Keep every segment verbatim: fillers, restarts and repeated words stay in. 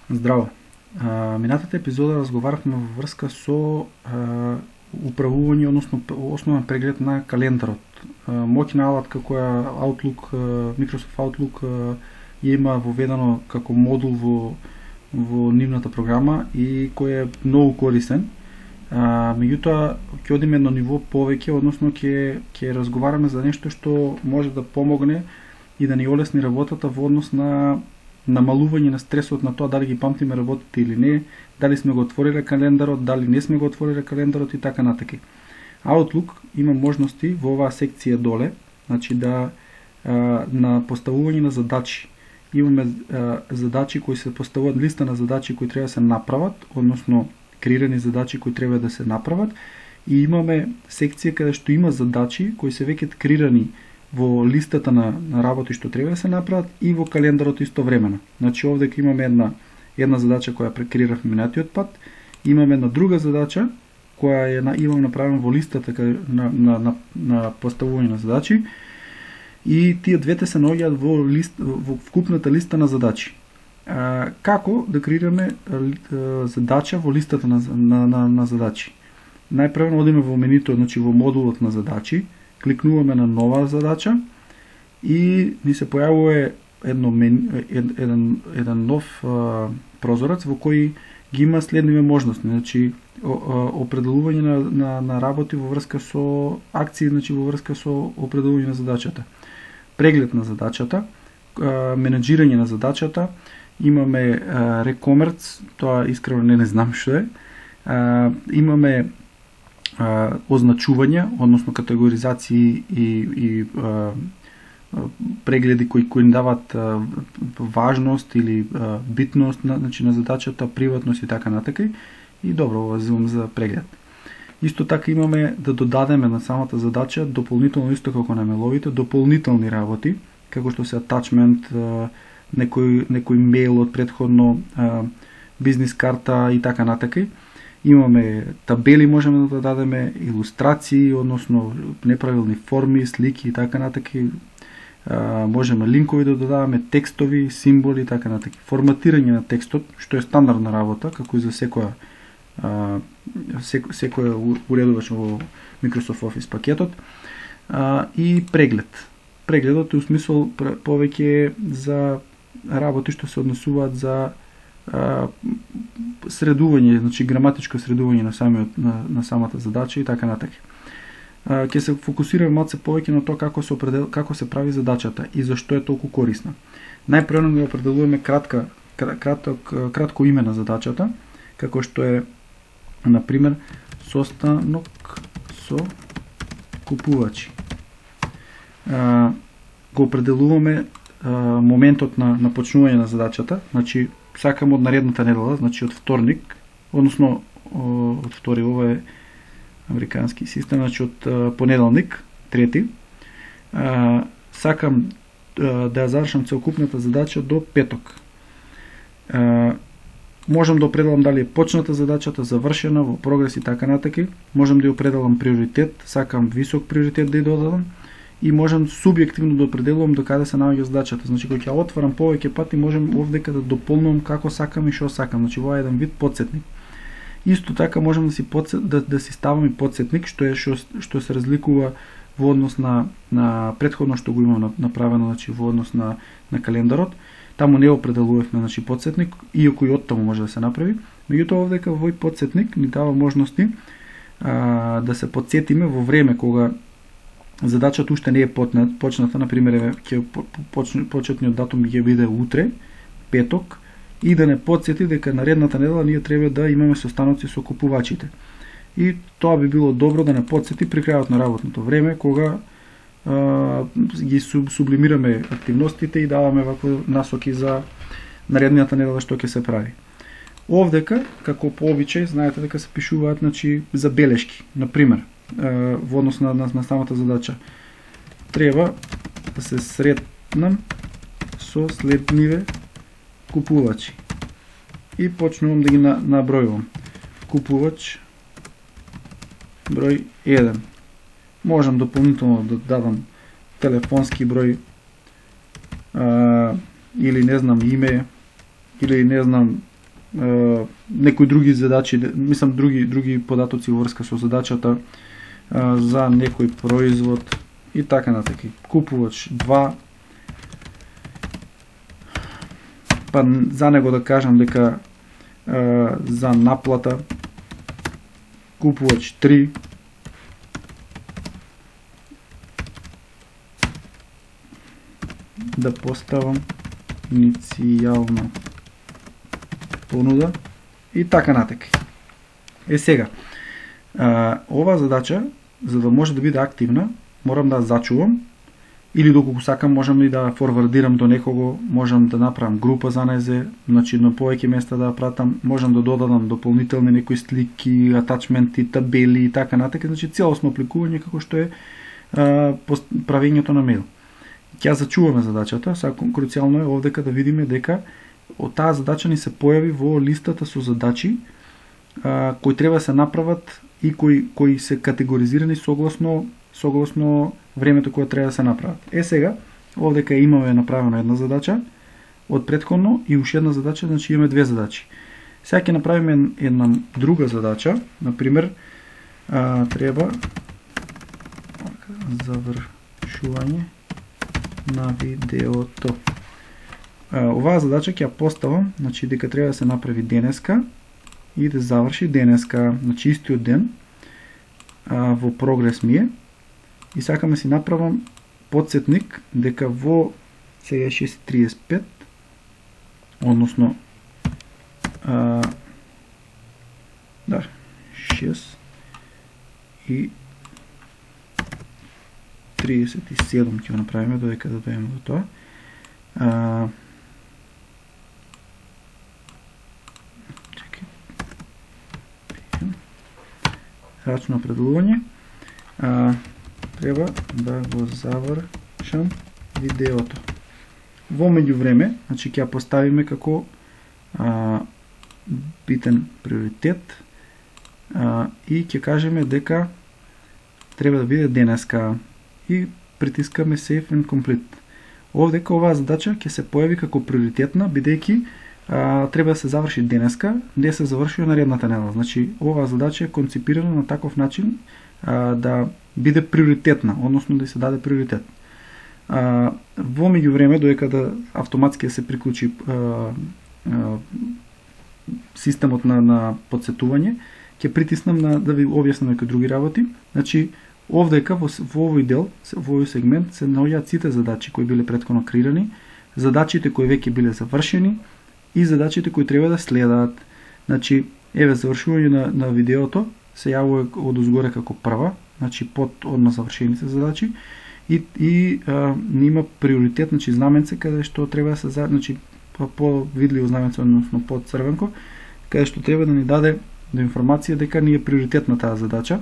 Здраво! А, минатата епизода разговаравме во врска со а, управување, односно основен преглед на календарот. А, моќна алатка која Outlook, а, Microsoft Outlook а, ја има воведено како модул во, во нивната програма и кој е многу корисен. А, меѓутоа, ќе одиме на ниво повеќе, односно ќе ќе разговараме за нешто што може да помогне и да ни олесни работата во однос на намалување на стресот на тоа дали ги памтиме работите или не, дали сме го отвориле календарот, дали не сме го отвориле календарот и така натаки. Outlook има можности во оваа секција доле, значи да а, на поставување на задачи. Имаме а, задачи кои се поставуваат, листа на задачи кои треба да се направат, односно креирани задачи кои треба да се направат, и имаме секција каде што има задачи кои се веќе креирани во листата на, на работи што треба да се направат и во календарот истовремено. Значи овде имаме една една задача која прекреиравме минатиот пат, имаме една друга задача која е на, имам направена во листата на, на, на, на поставување на задачи, и тие двете се наоѓаат во лист во вкупната листа на задачи. А, како да креираме а, задача во листата на, на, на, на задачи? Најпрво одиме во менито, значи во модулот на задачи, кликнуваме на нова задача и ни се појавува едно мен, ед, еден, еден нов а, прозорец во кој ги има следниве можности, значи о, о, определување на, на, на работи во врска со акции, значи во врска со определување на задачата, преглед на задачата, а, менеджирање на задачата, имаме рекомерц, тоа искрено не не знам што е, а, имаме Uh, означувања, односно категоризации и, и uh, прегледи кои кои дават uh, важност или uh, битност на, значи, на задачата, приватност и така натака. И добро, ова земам за преглед. Исто така имаме да додадеме на самата задача дополнително, исто како на меловите, дополнителни работи, како што се атачмент, uh, некој, некој мейл од предходно, uh, бизнес карта и така натака. Имаме табели, можеме да дадеме илустрации, односно неправилни форми, слики и така натаки. А, можеме линкови да додаваме, текстови, символи и така натаки. Форматирање на текстот, што е стандардна работа, како и за секоја а, сек, секоја уредувач во Microsoft Office пакетот. А, и преглед. Прегледот е у смисол повеќе за работи што се однесуваат за Uh, средување, значи граматичко средување на самиот на, на самата задача и така натака. Uh, ќе се фокусираме малце повеќе на тоа како се определ, како се прави задачата и зашто е толку корисна. Најпрво го определуваме кратка краток кратко име на задачата, како што е на пример состанок со купувачи. Uh, го определуваме uh, моментот на на почнување на задачата, значи сакам од наредната недела, значи од вторник, односно од втори, ова е американски систем, значи од понеделник, трети, а, сакам а, да ја завршам целокупната задача до петок. А, можам да определам дали е почната задачата, завршена, во прогрес и така натаки, можам да ја определам приоритет, сакам висок приоритет да ја додадам, и можам субјективно да определувам до каде се наоѓа задачата. Значи кога ќе отварам повеќе пати, можам овдека да дополнувам како сакам и што сакам. Значи во еден вид потсетник. Исто така можам да си подсет, да, да си ставам и потсетник, што е што, што се разликува во однос на на претходно што го имам направено, значи во однос на на календарот. Таму не определувавме, значи потсетник, иако и оттаму може да се направи. Меѓутоа овдека во потсетник ни дава можности а, да се потсетиме во време кога задачата уште не е почната, на пример, ќе почетниот датум ќе биде утре, петок, и да не потсети дека наредната недела ние треба да имаме состаноци со купувачите. И тоа би било добро да не потсети при крајот на работното време, кога а, ги суб, сублимираме активностите и даваме вакво насоки за наредната недела што ќе се прави. Овдека, како по обичај, знаете дека се пишуваат, значи, забелешки, на пример, во однос на, на, на самата задача. Треба да се сретнам со следниве купувачи. И почнувам да ги на, набројувам. Купувач број еден. Можам дополнително да дадам телефонски број, а, или не знам име, или не знам е, некои други задачи, мислам други други податоци во врска со задачата е, за некој производ и така натаки. Купувач два, па за него да кажам дека е, за наплата купувач три, да поставам иницијална понуда и така натака. Е сега, а, ова задача, за да може да биде активна, морам да зачувам, или доколку сакам можам и да форвардирам до некого, можам да направам група за незе, значи на повеќе места да ја пратам, можам да додадам дополнителни некои слики, атачменти, табели и така натака, значи целосно апликување како што е а, правењето на мејл. Ќе зачуваме задачата, сега круцијално е овдека да видиме дека од таа задача ни се појави во листата со задачи а, кои треба да се направат и кои кои се категоризирани согласно согласно времето кое треба да се направат. Е сега, овдека имаме направена една задача од претходно и уште една задача, значи имаме две задачи. Сега ќе направиме една друга задача, например, а, треба завршување на видеото. А, оваа задача ќе ја поставам, значи дека треба да се направи денеска и да заврши денеска, значи истиот ден а, во прогрес ми е. И сакаме си направам подсетник дека во сега шест и триесет и пет, односно а, да, шест и триесет и седум ќе го направиме додека да дојдеме до тоа. А, чекај. Рачно определување. А, треба да го завршам видеото. Во меѓувреме, значи ќе ја поставиме како а, битен приоритет а, и ќе кажеме дека треба да биде денеска и притискаме Save and Complete. Овдека оваа задача ќе се појави како приоритетна, бидејќи а, треба да се заврши денеска, не се завршува наредната недела. Значи, оваа задача е конципирана на таков начин а, да биде приоритетна, односно да се даде приоритет. А, во меѓувреме, додека да автоматски се приклучи а, а, системот на, на подсетување, ќе притиснам на да ви објаснам некои други работи. Значи, овдека во, во овој дел, во овој сегмент се наоѓаат сите задачи кои биле претходно креирани, задачите кои веќе биле завршени и задачите кои треба да следаат. Значи, еве завршување на, на видеото се јавува од озгоре како прва, значи под одма завршените задачи и и а, има приоритет, значи знаменце каде што треба да се значи по видливо знаменце, односно под црвенко, каде што треба да ни даде до информација дека ни е приоритетна таа задача.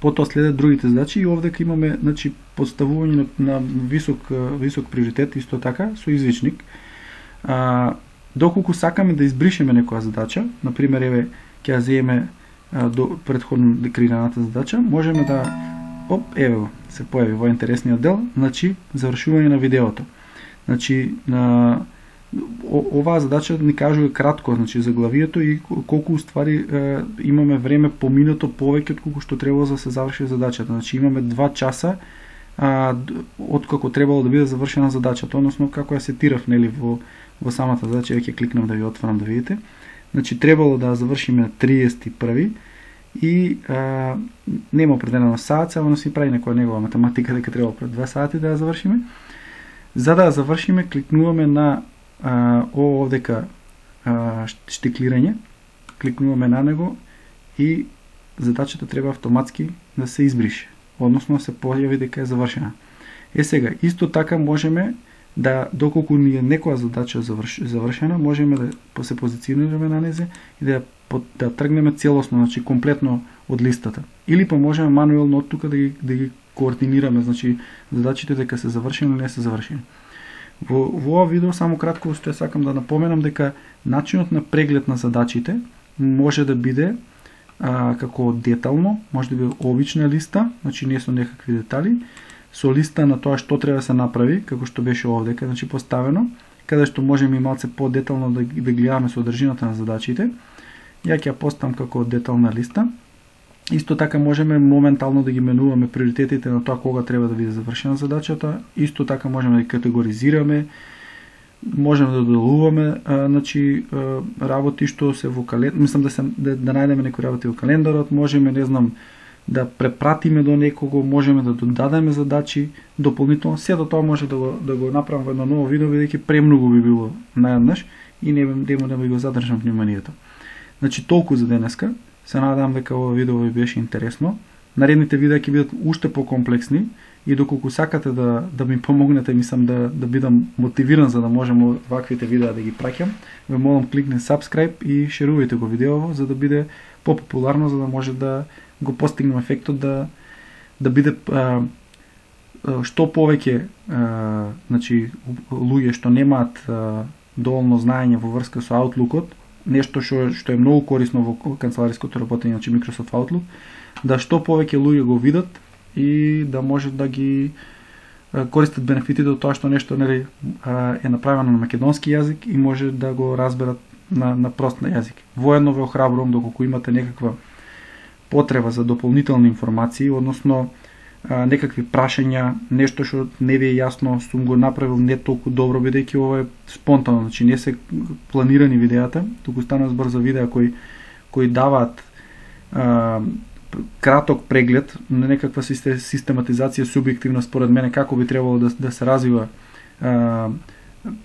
Потоа следат другите задачи и овдека имаме, значи, поставување на, на висок висок приоритет исто така со извичник. А, доколку сакаме да избришеме некоја задача, на пример еве ќе ја земеме до претходно декреираната задача, можеме да оп, еве го, се појави во интересниот дел, значи завршување на видеото. Значи на оваа задача ни кажува кратко, значи заглавието и колку уствари е, имаме време поминато повеќе од колку што требало за да се заврши задачата. Значи имаме два часа а, од како требало да биде завршена задачата, односно како ја сетирав нели во во самата задача, ќе кликнам да ви отворам да видите. Значи требало да завршиме на триесет и први и а, нема определено саат, само да си прави некоја негова математика дека требало пред два сати да ја завршиме. За да ја завршиме, кликнуваме на а, овдека а, штиклирање, кликнуваме на него и задачата треба автоматски да се избрише, односно да се појави дека е завршена. Е сега, исто така можеме да, доколку ни е некоја задача заврш, завршена, можеме да се позиционираме на незе и да, да тргнеме целосно, значи комплетно од листата. Или па можеме мануелно од тука да ги, да ги координираме, значи задачите дека се завршени или не се завршени. Во, во ова видео само кратко што сакам да напоменам дека начинот на преглед на задачите може да биде а, како детално, може да биде обична листа, значи не со некакви детали, со листа на тоа што треба да се направи, како што беше овдека, значи поставено, каде што можеме и малце по-детално да, да гледаме содржината на задачите. Ја ќе ја поставам како детална листа. Исто така можеме моментално да ги менуваме приоритетите на тоа кога треба да биде завршена задачата. Исто така можеме да ги категоризираме, можеме да доделуваме а, значи, а, работи што се во календарот, мислам да се да, да најдеме некои работи во календарот, можеме, не знам, да препратиме до некого, можеме да додадеме задачи дополнително. Сето тоа може да го да го направам во едно ново видео, бидејќи премногу би било наеднаш и не нема да ви го задржам вниманието. Значи толку за денеска. Се надевам дека ова видео ви беше интересно. Наредните видеа ќе бидат уште покомплексни и доколку сакате да да ми помогнете, мислам да да бидам мотивиран за да можам ваквите видеа да ги праќам, ве молам кликне subscribe и шерувајте го видеово за да биде попопуларно, за да може да го постигнем ефектот да да биде а, што повеќе а, значи луѓе што немаат а, доволно знаење во врска со Outlook-от, нешто што што е многу корисно во канцелариското работење, значи Microsoft Outlook, да што повеќе луѓе го видат и да може да ги а, користат бенефитите од тоа што нешто нели е направено на македонски јазик и може да го разберат на на прост на јазик. Воедно ве охрабрувам доколку имате некаква потреба за дополнителни информации, односно а, некакви прашања, нешто што не ви е јасно, сум го направил не толку добро, бидејќи ова е спонтано, значи не се планирани видеата, туку станува збор за видеа кои кои даваат а, краток преглед на некаква систематизација субјективна според мене како би требало да, да се развива а,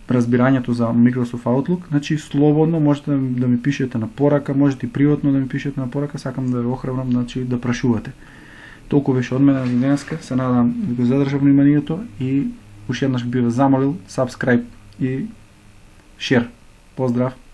разбирањето за Microsoft Outlook. Значи слободно можете да ми пишете на порака, можете и приватно да ми пишете на порака, сакам да ве охрабрам, значи да прашувате. Толку беше од мене за денеска, се надам да го задржам вниманието и уште еднаш би ве замолил subscribe и share. Поздрав!